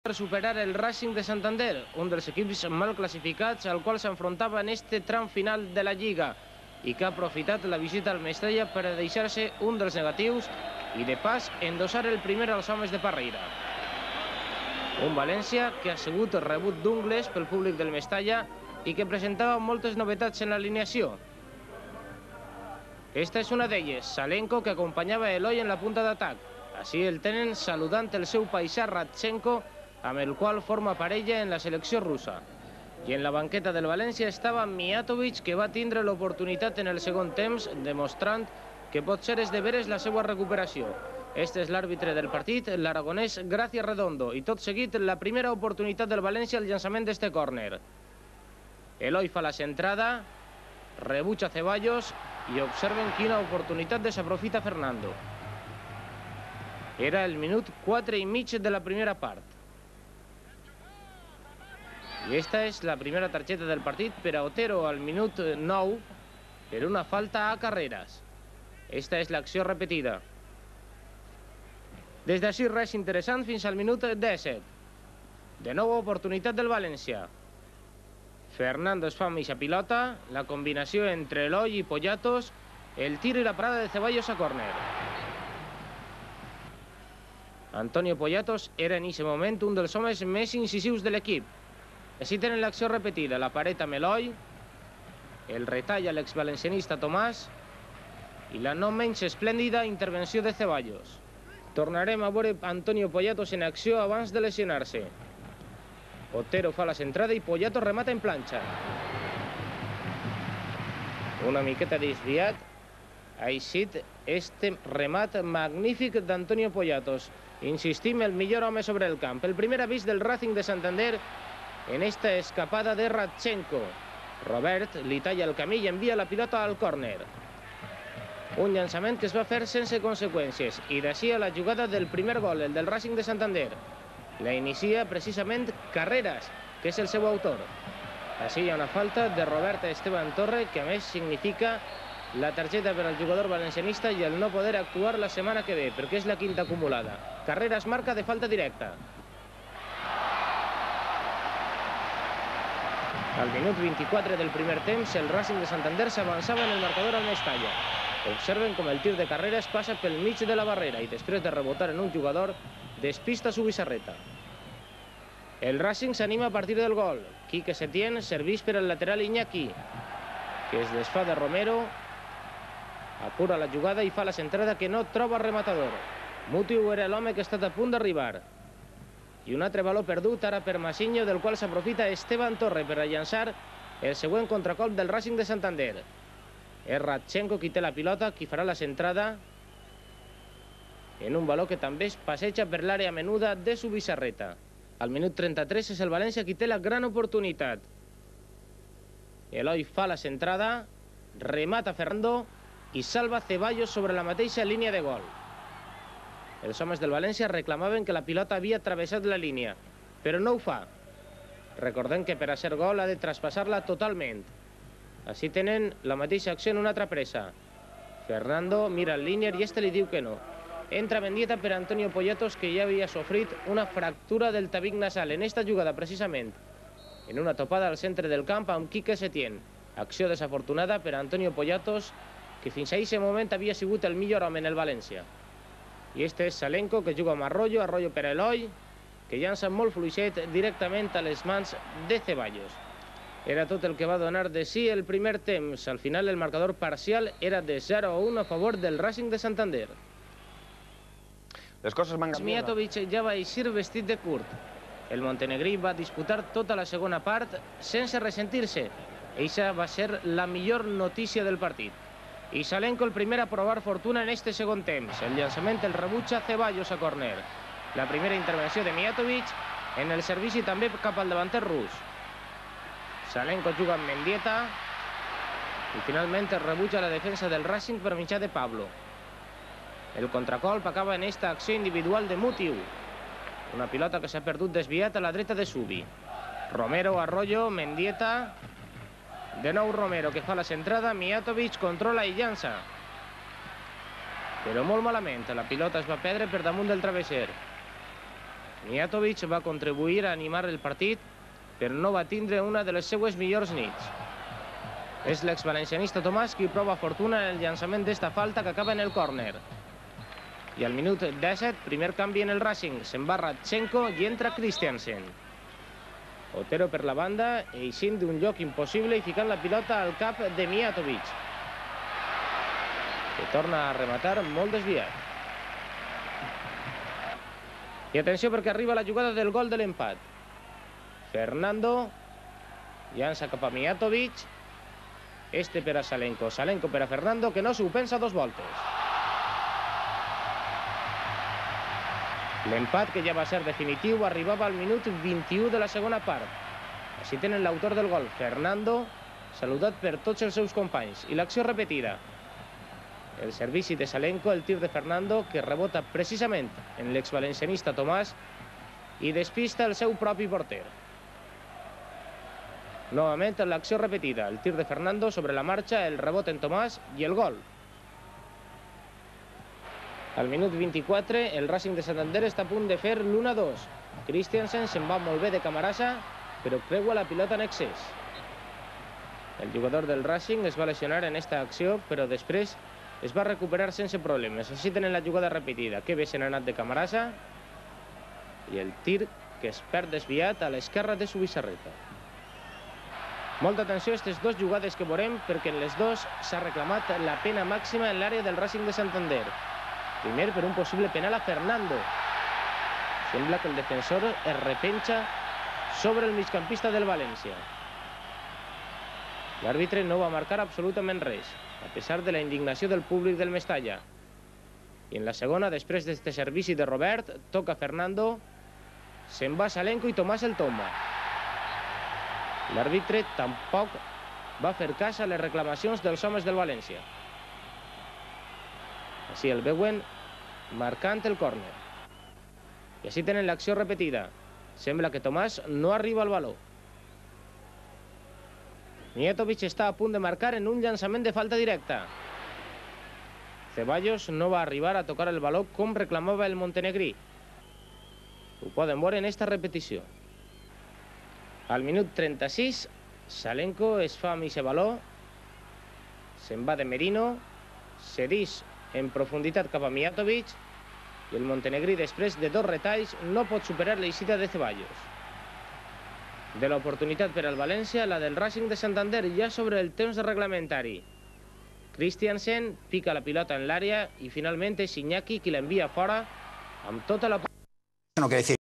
per superar el Racing de Santander, un dels equips mal classificats al qual s'enfrontava en este tram final de la Lliga i que ha aprofitat la visita al Mestalla per a deixar-se un dels negatius i de pas endossar el primer als homes de Parreira. Un València que ha sigut rebut d'ungles pel públic del Mestalla i que presentava moltes novetats en l'alineació. Esta és una d'elles, Salenko, que acompanyava Eloi en la punta d'atac. Així el tenen saludant el seu paisà Radchenko, amb el qual forma parella en la selecció russa. I en la banqueta del València estava Mijatovic, que va tindre l'oportunitat en el segon temps, demostrant que pot ser de veres la seva recuperació. Este és l'àrbitre del partit, l'aragonès Gracia Redondo, i tot seguit la primera oportunitat del València al llançament d'este córner. Eloi fa la centrada, rebutja Ceballos i observen quina oportunitat desaprofita Fernando. Era el minut 4 i mig de la primera part. I esta és la primera targeta del partit per a Otero al minut 9 per una falta a Carreras. Esta és l'acció repetida. Des d'ací res interessant fins al minut 17. De nou oportunitat del València. Fernando es fa mitja pilota, la combinació entre Eloi i Poyatos, el tir i la parada de Ceballos a córner. Antonio Poyatos era en aquest moment un dels homes més incisius de l'equip. Així tenen l'acció repetida, la paret amb Eloi, el retall a l'exvalencianista Tomàs i la no menys esplèndida intervenció de Ceballos. Tornarem a veure Antonio Poyatos en acció abans de lesionar-se. Otero fa la centrada i Poyatos remata en planxa. Una miqueta desviat ha eixit este remat magnífic d'Antonio Poyatos. Insistim, el millor home sobre el camp. El primer avís del Racing de Santander en esta escapada de Radchenko. Robert li talla el camí i envia la pilota al córner. Un llançament que es va fer sense conseqüències i d'ací a la jugada del primer gol, el del Racing de Santander. La inicia precisament Carreras, que és el seu autor. Així hi ha una falta de Robert Esteban Torre, que a més significa la targeta per al jugador valencianista i el no poder actuar la setmana que ve, perquè és la quinta acumulada. Carreras marca de falta directa. Al minut 24 del primer temps, el Racing de Santander s'avançava en el marcador al Mestalla. Observen com el tir de Carreras passa pel mig de la barrera i després de rebotar en un jugador, despista Zubizarreta. El Racing s'anima a partir del gol. Quique Setién serveix per al lateral Iñaki, que es desfà de Romero, apura la jugada i fa la centrada que no troba rematador. Mutiu era l'home que ha estat a punt d'arribar. I un altre valor perdut ara per Masinho, del qual s'aprofita Esteban Torre per a llançar el següent contracolp del Racing de Santander. És Radchenko qui té la pilota, qui farà la centrada en un valor que també es passeja per l'àrea menuda de Zubizarreta. Al minut 33 és el València qui té la gran oportunitat. Eloi fa la centrada, remata Fernando i salva Ceballos sobre la mateixa línia de gol. Els homes del València reclamaven que la pilota havia travessat la línia, però no ho fa. Recordem que per a ser gol ha de traspassar-la totalment. Així tenen la mateixa acció en una altra pressa. Fernando mira el línier i este li diu que no. Entra Mendieta per Antonio Poyatos, que ja havia sofrit una fractura del tabic nasal en esta jugada precisament, en una topada al centre del camp amb Quique Setién. Acció desafortunada per Antonio Poyatos, que fins a aquest moment havia sigut el millor home en el València. I este és Salenko, que juga amb Arroyo, Arroyo per Eloi, que llança molt fluixet directament a les mans de Ceballos. Era tot el que va donar de si el primer temps. Al final el marcador parcial era de 0-1 a favor del Racing de Santander. Les coses van canviar. Mijatovic ja va eixir vestit de curt. El montenegrí va disputar tota la segona part sense ressentir-se. Eixa va ser la millor notícia del partit. I Salenko el primer a provar fortuna en este segon temps. El llançament el rebutja Ceballos a córner. La primera intervenció de Mijatovic en el servici també cap al davanter rus. Salenko juga amb Mendieta i finalment es rebutja la defensa del Racing per mitjà de Pablo. El contracolp acaba en esta acció individual de Mutiu. Una pilota que s'ha perdut desviat a la dreta de Subi. Romero, Arroyo, Mendieta. De nou Romero, que fa la centrada. Mijatovic controla i llança. Però molt malament. La pilota es va perdre per damunt del travesser. Mijatovic va contribuir a animar el partit, però no va tindre una de les seues millors nits. És l'exvalencianista Tomàs qui prova fortuna en el llançament d'esta falta que acaba en el córner. I al minut 17, primer canvi en el Racing. Se'n va Radchenko i entra Christiansen. Otero per la banda, eixint d'un lloc impossible i ficant la pilota al cap de Mijatovic, que torna a rematar molt desviat. I atenció perquè arriba la jugada del gol de l'empat. Fernando llança cap a Mijatovic. Este per a Salenko. Salenko per a Fernando, que no s'ho pensa dos voltes. L'empat, que ja va ser definitiu, arribava al minut 21 de la segona part. Així tenen l'autor del gol, Fernando, saludat per tots els seus companys. I l'acció repetida. El servici de Salenko, el tir de Fernando, que rebota precisament en l'exvalencianista Tomàs i despista el seu propi porter. Novament l'acció repetida, el tir de Fernando sobre la marxa, el rebot en Tomàs i el gol. Al minut 24, el Racing de Santander està a punt de fer l'1-2. Christiansen se'n va molt bé de Camarasa, però creua la pilota en excés. El jugador del Racing es va lesionar en esta acció, però després es va recuperar sense problemes. Així tenen la jugada repetida. Que bé se n'ha anat de Camarasa i el tir que es perd desviat a l'esquerra de Zubizarreta. Molta atenció a aquestes dues jugades que veurem, perquè en les dues s'ha reclamat la pena màxima en l'àrea del Racing de Santander. Primer per un possible penal a Fernando. Sembla que el defensor es repenja sobre el migcampista del València. L'àrbitre no va marcar absolutament res, a pesar de la indignació del públic del Mestalla. I en la segona, després d'este servici de Robert, toca Fernando, se'n va Salenko i Tomàs el tomba. L'àrbitre tampoc va fer cas a les reclamacions dels homes del València. Així el veuen marcant el córner. I així tenen l'acció repetida. Sembla que Tomàs no arriba al baló. Mijatovic està a punt de marcar en un llançament de falta directa. Ceballos no va arribar a tocar el baló com reclamava el montenegrí. Ho poden veure en esta repetició. Al minut 36, Salenko es fa amb aquest baló, se'n va de Merino, cedeix en profunditat cap a Mijatovic i el montenegrí, després de dos retalls, no pot superar l'eixida de Ceballos. De l'oportunitat per al València, la del Racing de Santander ja sobre el temps reglamentari. Christiansen pica la pilota en l'àrea i finalment és Iñaki qui l'envia fora amb tota la... No quiere decir